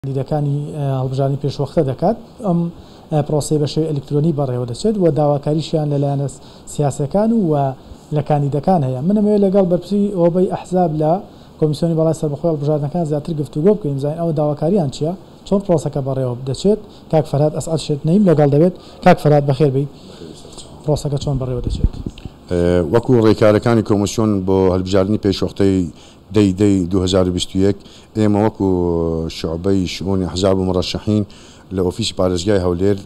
کاندیدەکانی هەڵبژاردنی پێشوەختە دەکات، ئەم پرۆسەیە بە شێوەی ئەلیکترۆنی بەڕێوەدەچێت و داواکاریشیان لە لایەنە سیاسیەکان و لە کاندیدەکان هەیە. من ئەمەوێت لەگەڵ بەرپرسی هۆبەی ئەحزاب لە کۆمیسیۆنی باڵای سەربەخۆی هەڵبژاردنەکان زیاتر گفتوگۆ بکەین بزانین ئەوە داواکاریان چیە، چۆن پرۆسەکە بەڕێوە دەچێت. کاک فەرهاد ئەسعەد شێت نەیم لەگەڵ دەبێت. کاک فەرهاد بەخێر بێی. پرۆسەکە چۆن بەڕێوە دەچێت؟ وەکو ڕێکارەکانی کۆمیسیۆن بۆ هەلبژاردنی پێشوەختەی دەی دەی 2021، ئێمە وەکو شوعبەی شئونی ئەحزاب و مورەشەحین لە ئۆفیسی پارێزگای هەولێر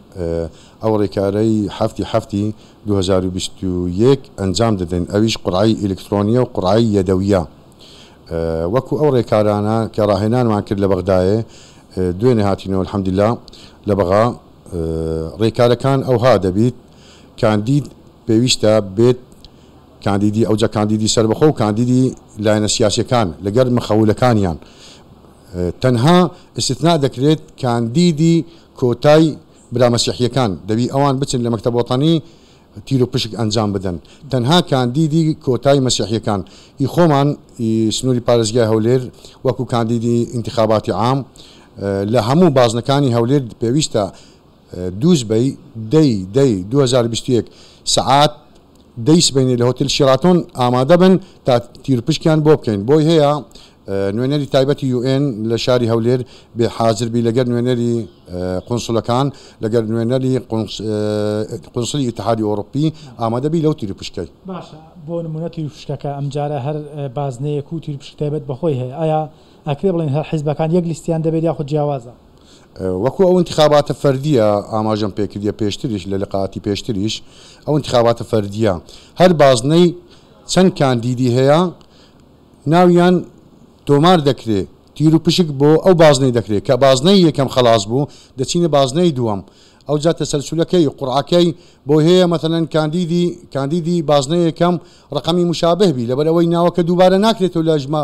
ئەو ڕێکارەی حەفتی حەفتی 2021 ئەنجام دەدەین ئەویش قورعەی ئیلکترۆنیە و قورعەی یەدەویە وەکو ئەو ڕێکارانە کە ڕاهێنانمان کرد لە بەغدایێ دوێنێ هاتینەوە الحمدللە لە بەغا ڕێکارەکان ئەوها دەبیت کاندید پێویستە بێت کاندیدی ئەوجا کاندیدی سەربەخۆ و کاندیدی لایەنە سیاسیەکان لەگەر مخەولەکانیان تەنها ئیستثنا دەکرێت کاندیدی کۆتای برا مەسیحیەکان دەبی ئەوان بچن لە مەکتەب وەتەنی تیرو پشک ئەنجام بدەن تەنها کاندیدی کۆتای مەسیحیەکان ئی خۆمان ئی سنوری پارێزگای هەولێر وەکو کاندیدی ئینتخاباتی عام لە هەموو بازنەکانی هەولێر پێویستە دووسبەی دەی دەی 2021 سەعات دەی سبەینێ لە هۆتێل شیراتۆن ئامادە بن تا تیروپشکیان بۆ بکەین. بۆی هەیە نوێنەری تایبەتی یو ئێن لە شاری هەولێر بێ حازر بی لەگەر نوێنەری قونسلەکان لەگەر نوێنەری قونسلی ئیتحادی ئۆڕوپی ئامادە بی لەو تیروپشکەی. باشە بۆ نمونە تیروپشکەکە ئەمجارە هەر بازنەیەک و تیروپشک تایبەت بەخۆی هەیە ئایا ئەکرێ بڵێین هەر حیزبەکان یەک لیستیان دەبێت یاخود جیاوازە؟ وەکو ئەو ئینتخاباتە فەردیە ئاماژەم پێکردیە پێشتریش لە لقاتی پێشتریش ئەو ئینتخاباتە فەردیە هەر بازنەی چەند کاندیدی هەیە ناویان تۆمار دەکرێ تیر و پشک بۆ ئەو بازنەی دەکرێ کە بازنەی یەکەم خەلاس بوو دەچینە بازنەی دووەم ئەوجا تەسەلسولەکەی قوڕعەکەی بۆی هەیە مەسەلەن کاندیدی کاندیدی بازنەی یەکەم ڕەقەمی مشابه بی لەبەر ئەوەی ناوەکە دووبارە ناکرێتەوە لە ژمە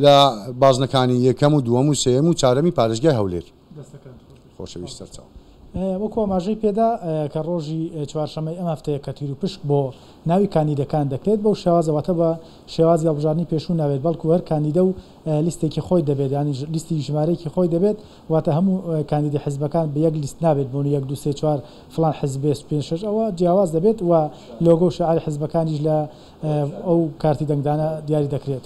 لە بازنەکانی یەکەم و دووەم و سێیەم و چارەمی پارێزگای هەولێر. دەستەکانت خۆش بێت. خۆشەویست سەرچاو. وەکو ئاماژەی پێدا کە ڕۆژی چوارشەممەی ئەم هەفتەیە کە تیروپشک بۆ ناوی کاندیدەکان دەکرێت بەو شێوازە واتە بە شێوازی هەڵبژاردنی پێشوو نابێت بەڵکو هەر کاندیدە و لیستێکی خۆی دەبێت یانی لیستی ژمارەیەکی خۆی دەبێت واتە هەموو کاندیدی حزبەکان بە یەک لیست نابێت بۆ یەک دوو سێ چوار فڵان حزب بێ پێنج شەش ئەوە جیاواز دەبێت و لۆگۆ و شیعاری حزبەکانیش لە ئەو کارتی دەنگدانە دیاری دەکرێت.